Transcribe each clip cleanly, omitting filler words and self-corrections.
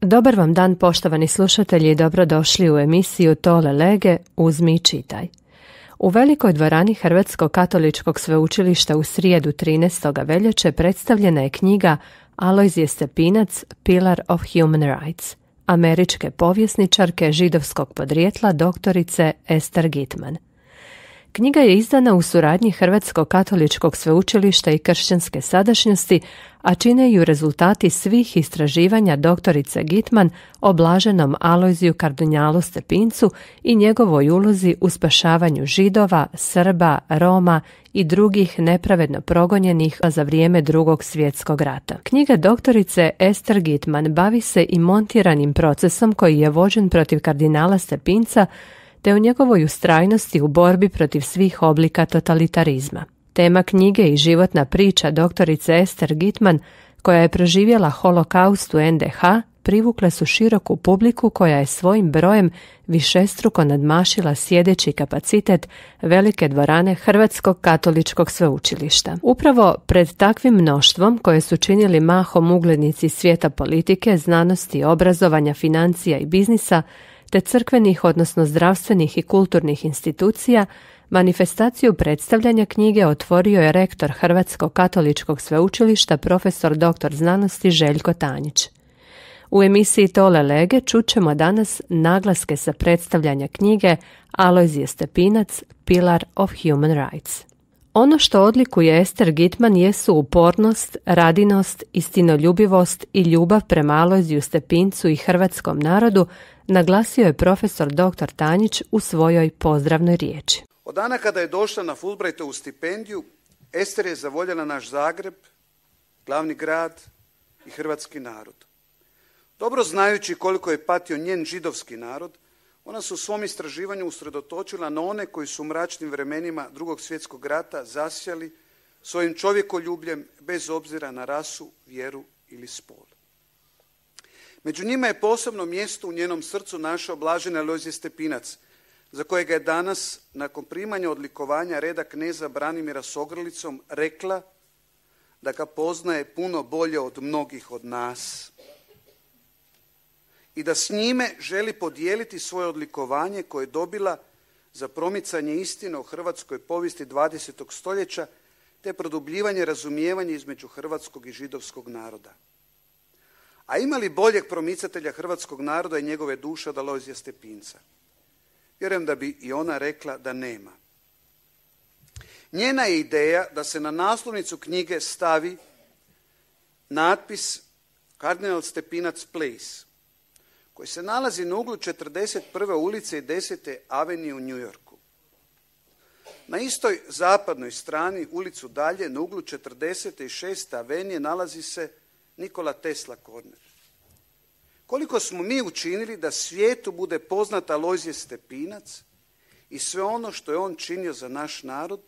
Dobar vam dan, poštovani slušatelji, i dobrodošli u emisiju Tole lege, uzmi i čitaj. U velikoj dvorani Hrvatskog katoličkog sveučilišta u srijedu 13. veljače predstavljena je knjiga Alojzije Stepinac, Pillar of Human Rights, američke povjesničarke židovskog podrijetla doktorice Ester Gitman. Knjiga je izdana u suradnji Hrvatskog katoličkog sveučilišta i kršćanske sadašnjosti, a čine ju rezultati svih istraživanja doktorice Gitman o blaženom Alojziju kardinjalu Stepincu i njegovoj ulozi u spašavanju Židova, Srba, Roma i drugih nepravedno progonjenih za vrijeme Drugog svjetskog rata. Knjiga doktorice Ester Gitman bavi se i montiranim procesom koji je vođen protiv kardinala Stepinca, te o njegovoj ustrajnosti u borbi protiv svih oblika totalitarizma. Tema knjige i životna priča doktorice Ester Gitman, koja je proživjela holokaust u NDH, privukle su široku publiku koja je svojim brojem višestruko nadmašila sjedeći kapacitet velike dvorane Hrvatskog katoličkog sveučilišta. Upravo pred takvim mnoštvom, koje su činili mahom uglednici svijeta politike, znanosti, obrazovanja, financija i biznisa, te crkvenih, odnosno zdravstvenih i kulturnih institucija, manifestaciju predstavljanja knjige otvorio je rektor Hrvatskog katoličkog sveučilišta profesor dr. znanosti Željko Tanjić. U emisiji Tole lege čućemo danas naglaske sa predstavljanja knjige Alojzije Stepinac, Pillar of Human Rights. Ono što odlikuje Ester Gitman jesu upornost, radinost, istinoljubivost i ljubav prema Alojziju Stepincu i hrvatskom narodu, naglasio je profesor dr. Tanjić u svojoj pozdravnoj riječi. Od dana kada je došla na Fulbrightovu stipendiju, Ester je zavoljela naš Zagreb, glavni grad i hrvatski narod. Dobro znajući koliko je patio njen židovski narod, ona se u svom istraživanju usredotočila na one koji su u mračnim vremenima Drugog svjetskog rata zasjali svojim čovjekoljubljem bez obzira na rasu, vjeru ili spol. Među njima je posebno mjesto u njenom srcu našao blaženi Alojzije Stepinac, za kojega je danas, nakon primanja odlikovanja reda kneza Branimira s ogrlicom, rekla da ga poznaje puno bolje od mnogih od nas i da s njime želi podijeliti svoje odlikovanje koje je dobila za promicanje istine o hrvatskoj povijesti 20. stoljeća te produbljivanje razumijevanja između hrvatskog i židovskog naroda. A ima li boljeg promicatelja hrvatskog naroda i njegove duše od Alojzija Stepinca? Vjerujem da bi i ona rekla da nema. Njena je ideja da se na naslovnicu knjige stavi natpis Kardinal Stepinac Place, koji se nalazi na uglu 41. ulice i 10. avenije u New Yorku. Na istoj zapadnoj strani, ulicu dalje, na uglu 46. avenije nalazi se Nikola Tesla Corner. Koliko smo mi učinili da svijetu bude poznat Alojzije Stepinac i sve ono što je on činio za naš narod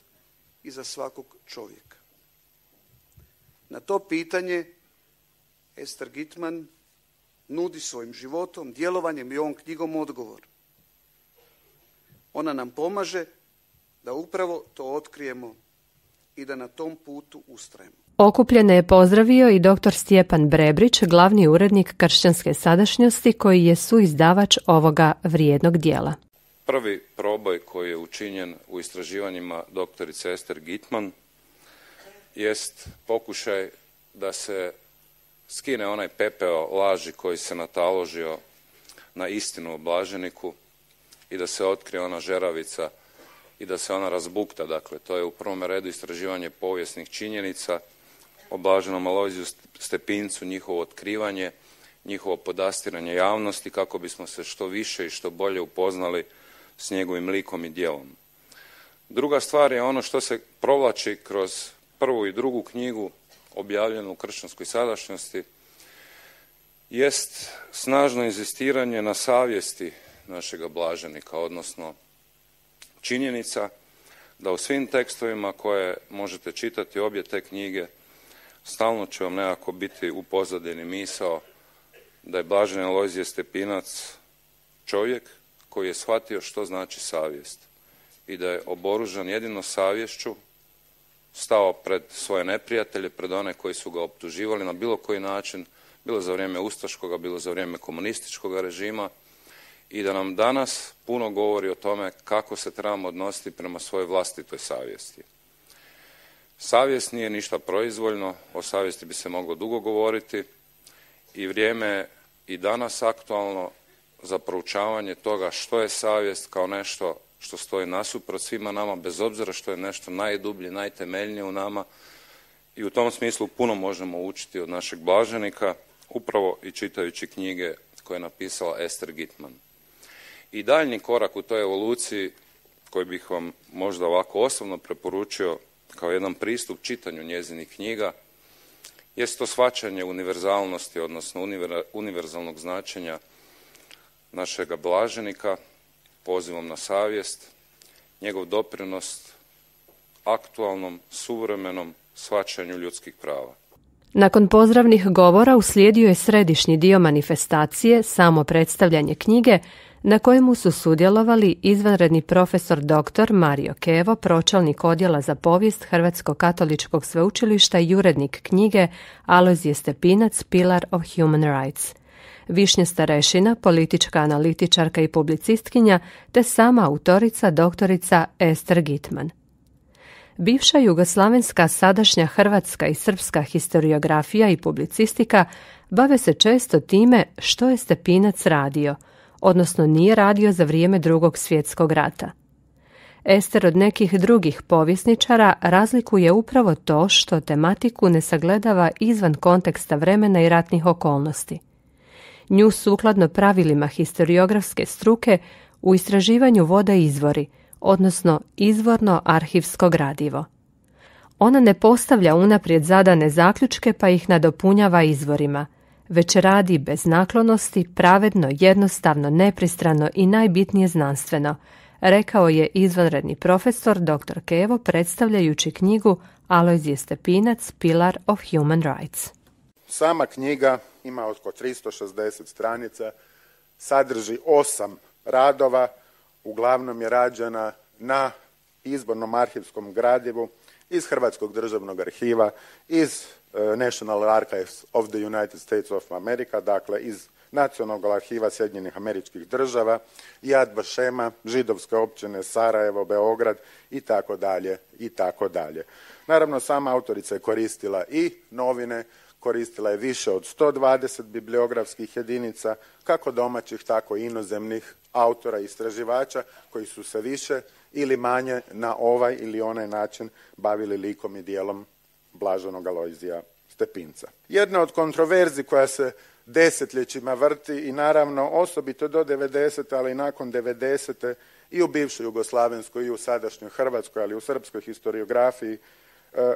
i za svakog čovjeka? Na to pitanje Ester Gitman nudi svojim životom, djelovanjem i ovom knjigom odgovor. Ona nam pomaže da upravo to otkrijemo i da na tom putu ustrajemo. Okupljene je pozdravio i dr. Stjepan Brebrić, glavni urednik Kršćanske sadašnjosti, koji je suizdavač ovoga vrijednog dijela. Prvi proboj koji je učinjen u istraživanjima doktorice Ester Gitman jest pokušaj da se skine onaj pepeo laži koji se nataložio na istinu o blaženiku i da se otkrije ona žeravica i da se ona razbukta. Dakle, to je u prvom redu istraživanje povijesnih činjenica o blaženom Alojziju Stepincu, njihovo otkrivanje, njihovo podastiranje javnosti kako bismo se što više i što bolje upoznali s njegovim likom i djelom. Druga stvar je ono što se provlači kroz prvu i drugu knjigu objavljenu u Kršćanskoj sadašnjosti, jest snažno inzistiranje na savjesti našega blaženika, odnosno činjenica da u svim tekstovima koje možete čitati obje te knjige stalno će vam nekako biti u pozadini misao da je blaženi Alojzije Stepinac čovjek koji je shvatio što znači savjest i da je oboružan jedino savješću stao pred svoje neprijatelje, pred one koji su ga optuživali na bilo koji način bilo za vrijeme ustaškoga, bilo za vrijeme komunističkog režima i da nam danas puno govori o tome kako se trebamo odnositi prema svojoj vlastitoj savjesti. Savjest nije ništa proizvoljno, o savjesti bi se moglo dugo govoriti i vrijeme je i danas aktualno za proučavanje toga što je savjest kao nešto što stoji nasuprot svima nama, bez obzira što je nešto najdublje, najtemeljnije u nama i u tom smislu puno možemo učiti od našeg blaženika, upravo i čitajući knjige koje je napisala Ester Gitman. I daljnji korak u toj evoluciji, koji bih vam možda ovako osobno preporučio kao jedan pristup čitanju njezinih knjiga, jest to shvaćanje univerzalnosti, odnosno univerzalnog značenja našega blaženika, pozivom na savjest, njegov doprinos aktualnom, suvremenom shvaćanju ljudskih prava. Nakon pozdravnih govora uslijedio je središnji dio manifestacije, samo predstavljanje knjige, na kojemu su sudjelovali izvanredni profesor dr. Mario Kevo, pročelnik odjela za povijest Hrvatskog katoličkog sveučilišta i urednik knjige Alojzije Stepinac, Pillar of Human Rights, Višnja Starešina, politička analitičarka i publicistkinja, te sama autorica doktorica Ester Gitman. Bivša jugoslavenska, sadašnja hrvatska i srpska historiografija i publicistika bave se često time što je Stepinac radio, odnosno nije radio za vrijeme Drugog svjetskog rata. Ester od nekih drugih povjesničara razlikuje upravo to što tematiku ne sagledava izvan konteksta vremena i ratnih okolnosti. Nju sukladno pravilima historiografske struke u istraživanju vode izvori, odnosno izvorno arhivsko gradivo. Ona ne postavlja unaprijed zadane zaključke pa ih nadopunjava izvorima, već radi bez naklonosti, pravedno, jednostavno, nepristrano i najbitnije znanstveno, rekao je izvanredni profesor dr. Kevo predstavljajući knjigu Alojzije Stepinac, Pillar of Human Rights. Sama knjiga ima oko 360 stranica, sadrži 8 radova, uglavnom je rađena na izbornom arhivskom gradivu iz Hrvatskog državnog arhiva, iz National Archives of the United States of America, dakle iz Nacionalnog arhiva Sjedinjenih Američkih Država, Yad Vašema, židovske općine Sarajevo, Beograd i tako dalje i tako dalje. Naravno, sama autorica je koristila i novine, koristila je više od 120 bibliografskih jedinica, kako domaćih, tako i inozemnih autora i istraživača koji su se više ili manje na ovaj ili onaj način bavili likom i dijelom blaženog Alojzija Stepinca. Jedna od kontroverzi koja se desetljećima vrti i naravno osobito do 90. ali i nakon 90. i u bivšoj Jugoslavenskoj i u sadašnjoj Hrvatskoj, ali i u srpskoj historiografiji,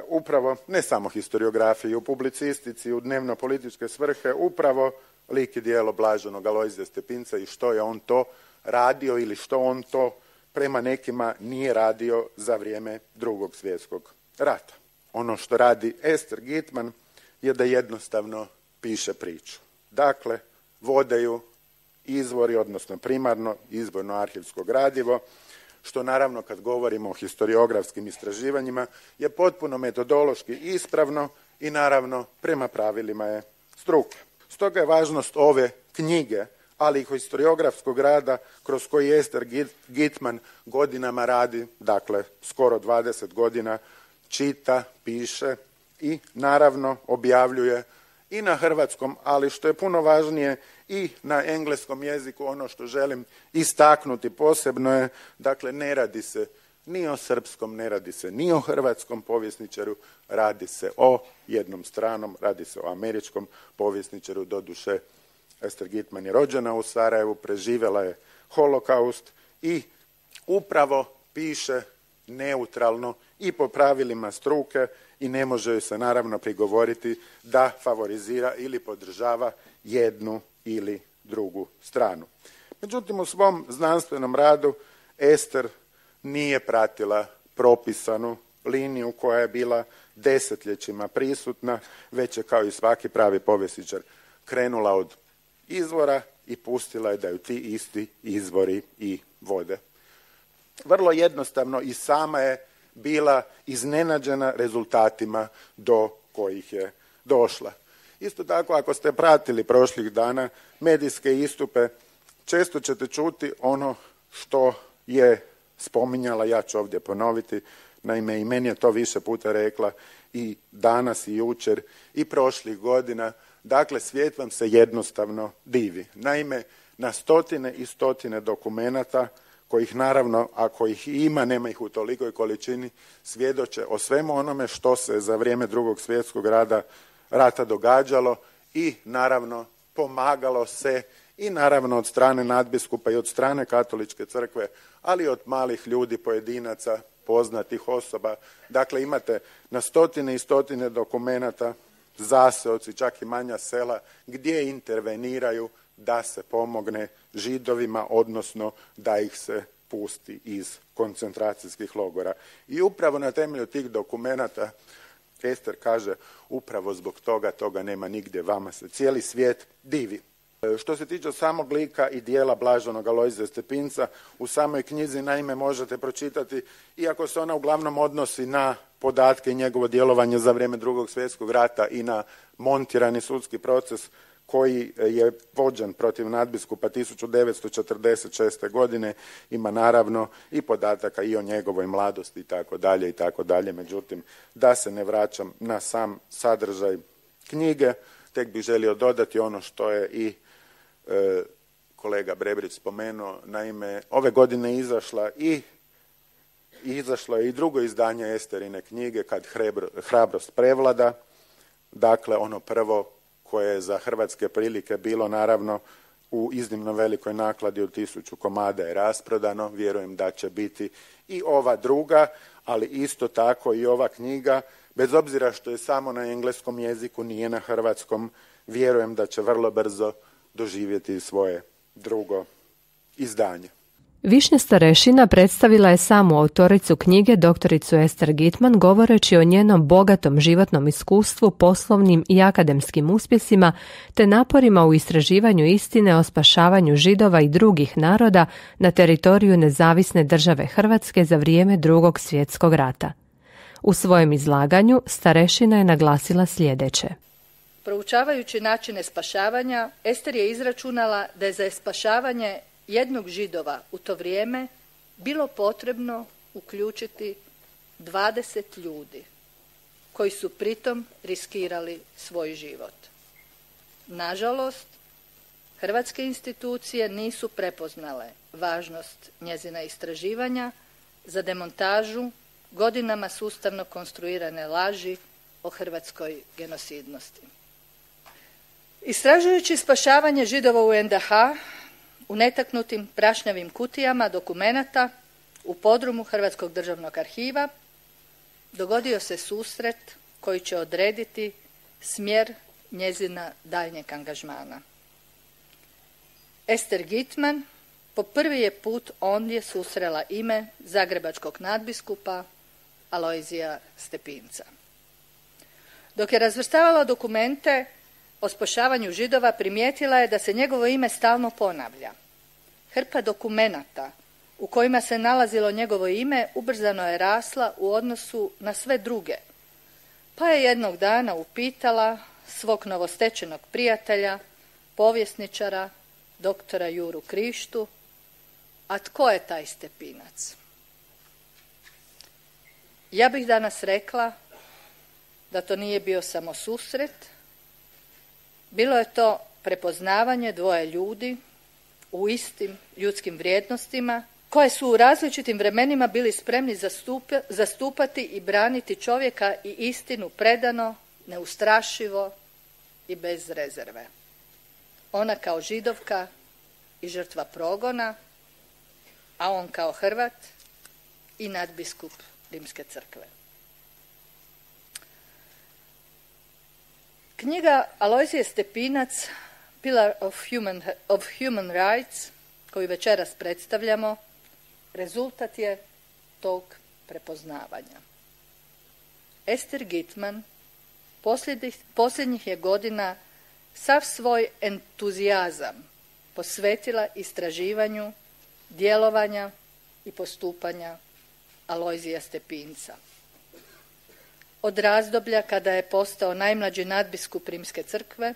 upravo, ne samo historiografiji, u publicistici, u dnevno-političke svrhe, upravo lik i djelo blaženog Alojzija Stepinca i što je on to radio ili što on to prema nekima nije radio za vrijeme Drugog svjetskog rata. Ono što radi Ester Gitman je da jednostavno piše priču. Dakle, vode ju izvori, odnosno primarno izvorno arhivsko gradivo, što naravno kad govorimo o historiografskim istraživanjima je potpuno metodološki ispravno i naravno prema pravilima je struke. Stoga je važnost ove knjige, ali i historiografskog rada kroz koji Ester Gitman godinama radi, dakle skoro 20 godina, čita, piše i naravno objavljuje i na hrvatskom, ali što je puno važnije i na engleskom jeziku. Ono što želim istaknuti posebno je, dakle ne radi se ni o srpskom, ne radi se ni o hrvatskom povjesničaru, radi se o jednom stranom, radi se o američkom povjesničaru. Doduše, Ester Gitman je rođena u Sarajevu, preživjela je holokaust i upravo piše neutralno i po pravilima struke i ne može joj se naravno prigovoriti da favorizira ili podržava jednu ili drugu stranu. Međutim, u svom znanstvenom radu Ester nije pratila propisanu liniju koja je bila desetljećima prisutna, već je kao i svaki pravi povjesničar krenula od izvora i pustila je da ju ti isti izvori i vode. Vrlo jednostavno i sama je bila iznenađena rezultatima do kojih je došla. Isto tako, ako ste pratili prošlih dana medijske istupe, često ćete čuti ono što je spominjala, ja ću ovdje ponoviti, naime i meni je to više puta rekla i danas i jučer i prošlih godina, dakle svijet vam se jednostavno divi. Naime, na stotine i stotine dokumenata, kojih naravno, ako ih ima, nema ih u tolikoj količini, svjedoče o svemu onome što se za vrijeme Drugog svjetskog rata događalo i naravno pomagalo se i naravno od strane nadbiskupa i od strane Katoličke crkve, ali i od malih ljudi, pojedinaca, poznatih osoba. Dakle, imate na stotine i stotine dokumenata, zaseoci, čak i manja sela, gdje interveniraju da se pomogne Židovima, odnosno da ih se pusti iz koncentracijskih logora. I upravo na temelju tih dokumenata Ester kaže, upravo zbog toga nema nigdje, vama se cijeli svijet divi. Što se tiče samog lika i dijela blaženog Alojzija Stepinca, u samoj knjizi naime možete pročitati, iako se ona uglavnom odnosi na podatke i njegovo djelovanje za vrijeme Drugog svjetskog rata i na montirani sudski proces koji je vođen protiv nadbiskupa 1946. godine, ima naravno i podataka i o njegovoj mladosti i tako dalje. Međutim, da se ne vraćam na sam sadržaj knjige, tek bih želio dodati ono što je i kolega Brebrić spomenuo. Naime, ove godine izašlo je i drugo izdanje Esterine knjige, Kad hrabrost prevlada, dakle ono prvo koje je za hrvatske prilike bilo naravno u iznimno velikoj nakladi od 1000 komada je rasprodano. Vjerujem da će biti i ova druga, ali isto tako i ova knjiga, bez obzira što je samo na engleskom jeziku, nije na hrvatskom, vjerujem da će vrlo brzo doživjeti svoje drugo izdanje. Višnja Starešina predstavila je samu autoricu knjige, doktoricu Ester Gitman, govoreći o njenom bogatom životnom iskustvu, poslovnim i akademskim uspjesima, te naporima u istraživanju istine o spašavanju Židova i drugih naroda na teritoriju nezavisne države Hrvatske za vrijeme Drugog svjetskog rata. U svojem izlaganju Starešina je naglasila sljedeće. Proučavajući načine spašavanja, Ester je izračunala da je za spašavanje jednog Židova u to vrijeme bilo potrebno uključiti 20 ljudi koji su pritom riskirali svoj život. Nažalost, hrvatske institucije nisu prepoznale važnost njezina istraživanja za demontažu godinama sustavno konstruirane laži o hrvatskoj genocidnosti. Istražujući spašavanje Židova u NDH, u netaknutim prašnjavim kutijama dokumenata u podrumu Hrvatskog državnog arhiva dogodio se susret koji će odrediti smjer njezina daljnjeg angažmana. Ester Gitman po prvi je put ondje susrela ime zagrebačkog nadbiskupa Alojzija Stepinca. Dok je razvrstavala dokumente o spašavanju Židova, primijetila je da se njegovo ime stalno ponavlja. Hrpa dokumenata u kojima se nalazilo njegovo ime ubrzano je rasla u odnosu na sve druge, pa je jednog dana upitala svog novostečenog prijatelja, povjesničara, doktora Juru Krištu, a tko je taj Stepinac? Ja bih danas rekla da to nije bio samo susret, bilo je to prepoznavanje dvoje ljudi u istim ljudskim vrijednostima koje su u različitim vremenima bili spremni zastupati i braniti čovjeka i istinu predano, neustrašivo i bez rezerve. Ona kao Židovka i žrtva progona, a on kao Hrvat i nadbiskup Rimske crkve. Knjiga Alojzije Stepinac, Pillar of Human Rights, koju večeras predstavljamo, rezultat je tog prepoznavanja. Ester Gitman posljednjih je godina sav svoj entuzijazam posvetila istraživanju, djelovanja i postupanja Alojzija Stepinca. od razdoblja kada je postao najmlađi nadbiskup Rimske crkve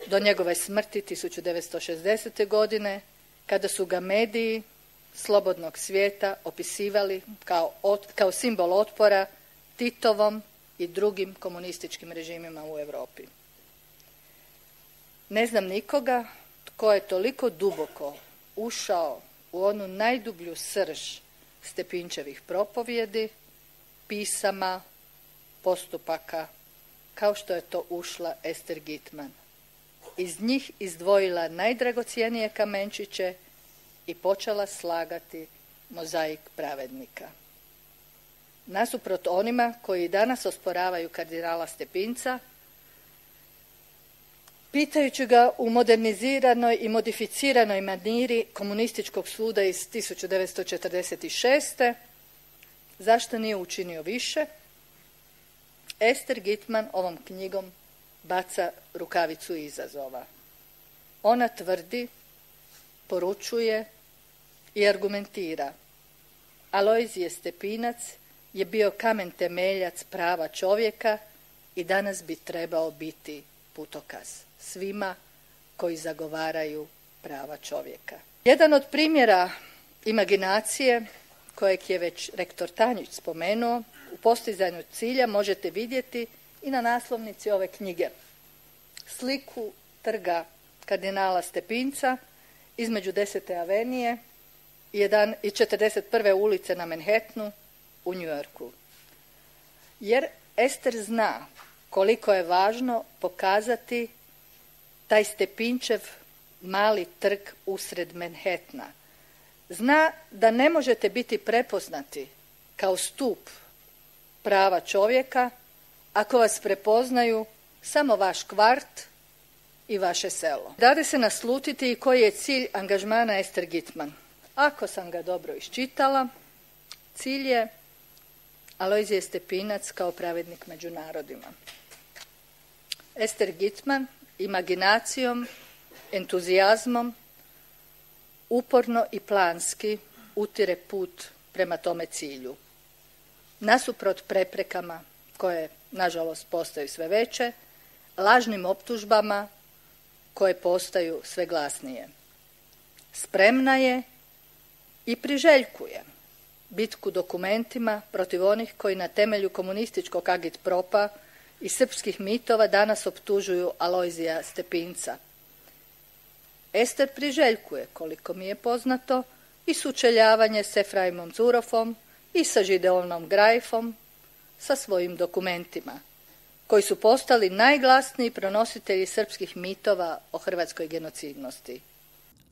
do njegove smrti 1960. godine, kada su ga mediji slobodnog svijeta opisivali kao simbol otpora Titovom i drugim komunističkim režimima u Europi. Ne znam nikoga tko je toliko duboko ušao u onu najdublju srž Stepinčevih propovjedi, pisama, postupaka, kao što je to ušla Ester Gitman. Iz njih izdvojila najdragocjenije kamenčiće i počela slagati mozaik pravednika. Nasuprot onima koji danas osporavaju kardinala Stepinca, pitajući ga u moderniziranoj i modificiranoj maniri komunističkog suda iz 1946. zašto nije učinio više, Ester Gitman ovom knjigom baca rukavicu izazova. Ona tvrdi, poručuje i argumentira: Alojzije Stepinac je bio kamen temeljac prava čovjeka i danas bi trebao biti putokaz svima koji zagovaraju prava čovjeka. Jedan od primjera imaginacije, kojeg je već rektor Tanjić spomenuo, u postizanju cilja možete vidjeti i na naslovnici ove knjige. Sliku trga kardinala Stepinca između 10. avenije i 41. ulice na Manhattanu u New Yorku. Jer Ester zna koliko je važno pokazati taj Stepinčev mali trg usred Manhattana. Zna da ne možete biti prepoznati kao stup prava čovjeka ako vas prepoznaju samo vaš kvart i vaše selo. Dade se naslutiti i koji je cilj angažmana Ester Gitman. Ako sam ga dobro iščitala, cilj je Alojzije Stepinac kao pravednik među narodima. Ester Gitman imaginacijom, entuzijazmom, uporno i planski utire put prema tome cilju. Nasuprot preprekama koje, nažalost, postaju sve veće, lažnim optužbama koje postaju sve glasnije. Spremna je i priželjkuje bitku dokumentima protiv onih koji na temelju komunističkog agitpropa i srpskih mitova danas optužuju Alojzija Stepinca. Ester priželjkuje, koliko mi je poznato, i sučeljavanje s Efraimom Zurofom i sa Žideonom Grajfom, sa svojim dokumentima, koji su postali najglasniji pronositelji srpskih mitova o hrvatskoj genocidnosti.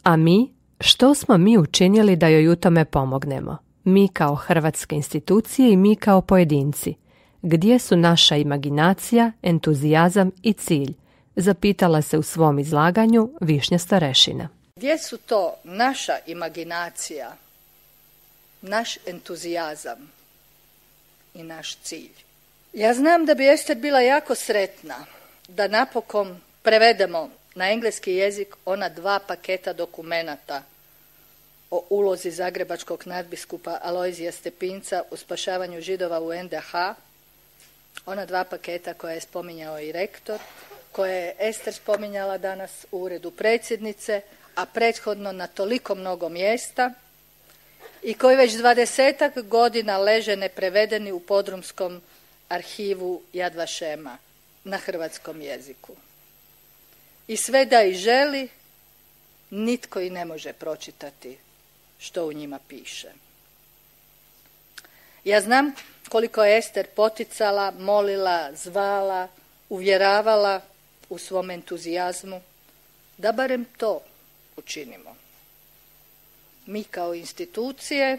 A mi, što smo mi učinili da joj u tome pomognemo? Mi kao hrvatske institucije i mi kao pojedinci. Gdje su naša imaginacija, entuzijazam i cilj? Zapitala se u svom izlaganju Višnja Starešina. Gdje su to naša imaginacija, naš entuzijazam i naš cilj? Ja znam da bi Ester bila jako sretna da napokon prevedemo na engleski jezik ona 2 paketa dokumenata o ulozi zagrebačkog nadbiskupa Alojzija Stepinca u spašavanju Židova u NDH, ona 2 paketa koja je spominjao i rektor, koje je Ester spominjala danas u uredu predsjednice, a prethodno na toliko mnogo mjesta, i koji već 20-ak godina leže neprevedeni u podrumskom arhivu Yad Vašema na hrvatskom jeziku. I sve da i želi, nitko i ne može pročitati što u njima piše. Ja znam koliko je Ester poticala, molila, zvala, uvjeravala u svom entuzijazmu da barem to učinimo. Mi kao institucije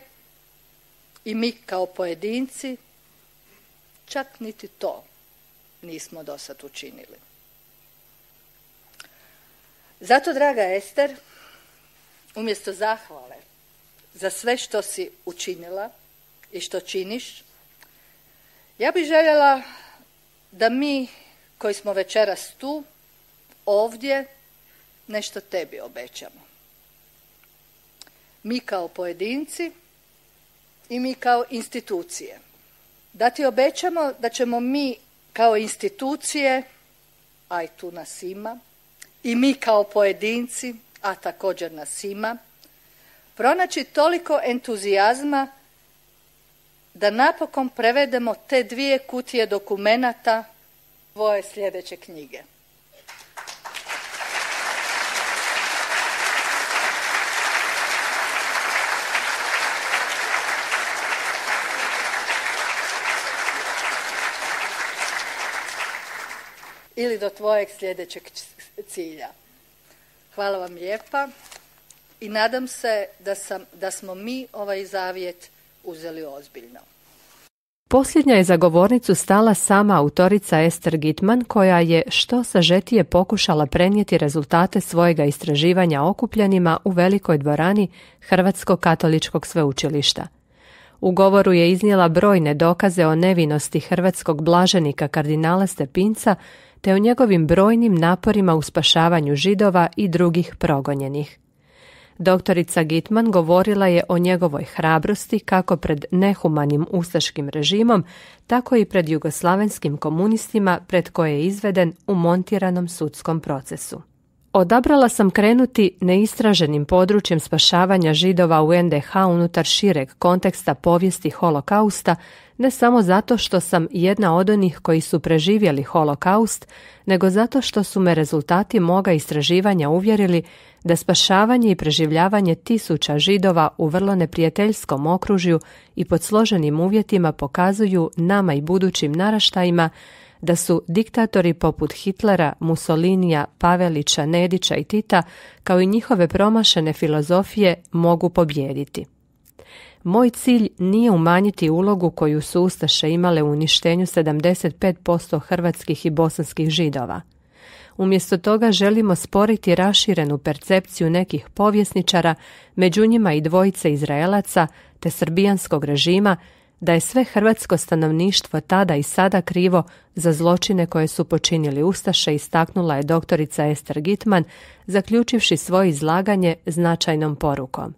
i mi kao pojedinci čak niti to nismo dosad učinili. Zato, draga Ester, umjesto zahvale za sve što si učinila i što činiš, ja bih željela da mi koji smo večeras tu, ovdje, nešto tebi obećamo. Mi kao pojedinci i mi kao institucije. da ti obećamo da ćemo mi kao institucije, a i tu nas ima, i mi kao pojedinci, a također nas ima, pronaći toliko entuzijazma da napokon prevedemo te 2 kutije dokumenata tvoje sljedeće knjige. Ili do tvojeg sljedećeg cilja. Hvala vam lijepa i nadam se da smo mi ovaj zavjet uzeli ozbiljno. Posljednja je za govornicu stala sama autorica Ester Gitman, koja je što sažetije pokušala prenijeti rezultate svojega istraživanja okupljenima u velikoj dvorani Hrvatskog katoličkog sveučilišta. U govoru je iznijela brojne dokaze o nevinosti hrvatskog blaženika kardinala Stepinca te o njegovim brojnim naporima u spašavanju Židova i drugih progonjenih. Doktorica Gitman govorila je o njegovoj hrabrosti kako pred nehumanim ustaškim režimom, tako i pred jugoslavenskim komunistima pred koje je izveden u montiranom sudskom procesu. Odabrala sam krenuti neistraženim područjem spašavanja Židova u NDH unutar šireg konteksta povijesti holokausta, ne samo zato što sam jedna od onih koji su preživjeli holokaust, nego zato što su me rezultati moga istraživanja uvjerili da spašavanje i preživljavanje tisuća Židova u vrlo neprijateljskom okružju i pod složenim uvjetima pokazuju nama i budućim naraštajima da su diktatori poput Hitlera, Mussolinija, Pavelića, Nedića i Tita, kao i njihove promašene filozofije, mogu pobijediti. Moj cilj nije umanjiti ulogu koju su ustaše imale u uništenju 75% hrvatskih i bosanskih Židova. Umjesto toga želimo sporiti raširenu percepciju nekih povjesničara, među njima i dvojice Izraelaca te srbijanskog režima, da je sve hrvatsko stanovništvo tada i sada krivo za zločine koje su počinili ustaše, istaknula je doktorica Ester Gitman, zaključivši svoje izlaganje značajnom porukom.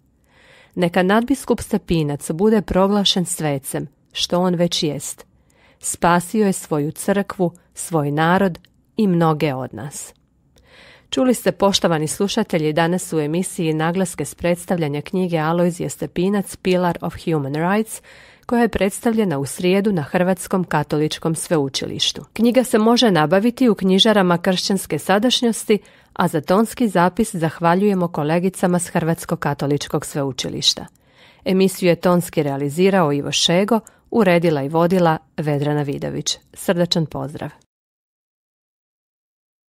Neka nadbiskup Stepinac bude proglašen svecem, što on već jest. Spasio je svoju crkvu, svoj narod i mnoge od nas. Čuli ste, poštovani slušatelji, danas u emisiji naglaske s predstavljanja knjige Alojzije Stepinac Pillar of Human Rights, koja je predstavljena u srijedu na Hrvatskom katoličkom sveučilištu. Knjiga se može nabaviti u knjižarama kršćanske sadašnjosti, a za tonski zapis zahvaljujemo kolegicama s Hrvatskog katoličkog sveučilišta. Emisiju je tonski realizirao Ivo Šego, uredila i vodila Vedrana Vidović. Srdačan pozdrav!